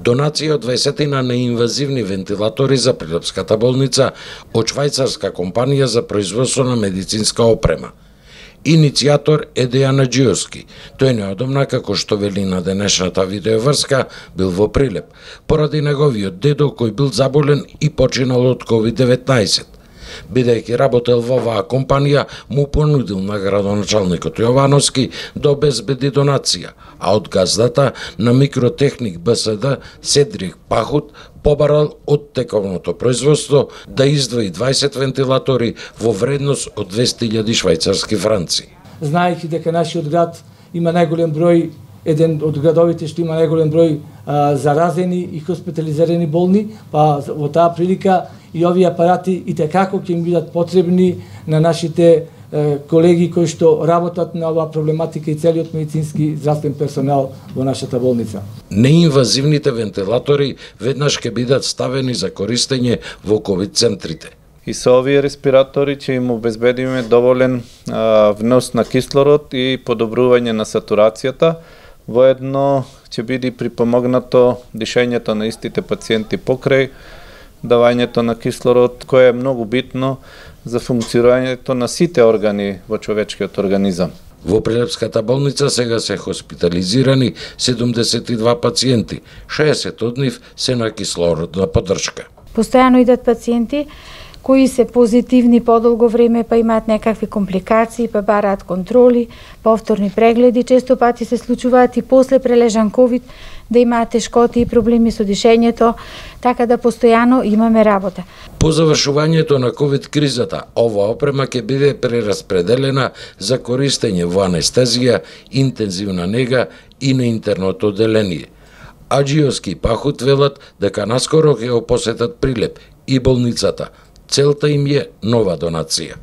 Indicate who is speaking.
Speaker 1: Донација од 20 неинвазивни вентилатори за Прилепската болница од швајцарска компанија за производство на медицинска опрема. Иницијатор е Дејан Аџиовски. Тој неодамна, како што вели на денешната видеоврска, бил во Прилеп, поради неговиот дедо кој бил заболен и починал од COVID-19. Бидејќи работел во оваа компанија, му понудил на градоначалникот Јовановски да обезбеди донација, а од газдата на Микротехник БСД Седрик Пахут побарал од тековното производство да издвои 20 вентилатори во вредност од 200.000 швајцарски франци.
Speaker 2: Знаејќи дека нашиот град има најголем број, еден од градовите што има најголем број заразени и хоспитализирани болни, па во таа прилика и овие апарати и tekako ќе им бидат потребни на нашите колеги кои што работат на оваа проблематика и целиот медицински здравствен персонал во нашата болница.
Speaker 1: Неинвазивните вентилатори веднаш ќе бидат ставени за користење во ковид центрите.
Speaker 3: И со овие респиратори ќе им обезбедиме доволен внос на кислород и подобрување на сатурацијата. Воедно ќе биде припомогнато дишењето на истите пациенти покрај давањето на кислород, кое е многу битно за функционирањето на сите органи во човечкиот организам.
Speaker 1: Во Прилепската болница сега се хоспитализирани 72 пациенти, 60 од нив се на кислородна поддршка.
Speaker 4: Постојано идат пациенти кои се позитивни подолго време, па имаат некакви компликации, па бараат контроли, повторни прегледи, често пати се случуваат и после прележан ковид да имаат тешкоти и проблеми со дишењето, така да постојано имаме работа.
Speaker 1: По завршувањето на ковид кризата, ова опрема ќе биде прераспределена за користење во анестезија, интензивна нега и на интерното одделение. Аџиовски и Пахут велат дека наскоро ќе го посетат Прилеп и болницата. Целта им е нова донација.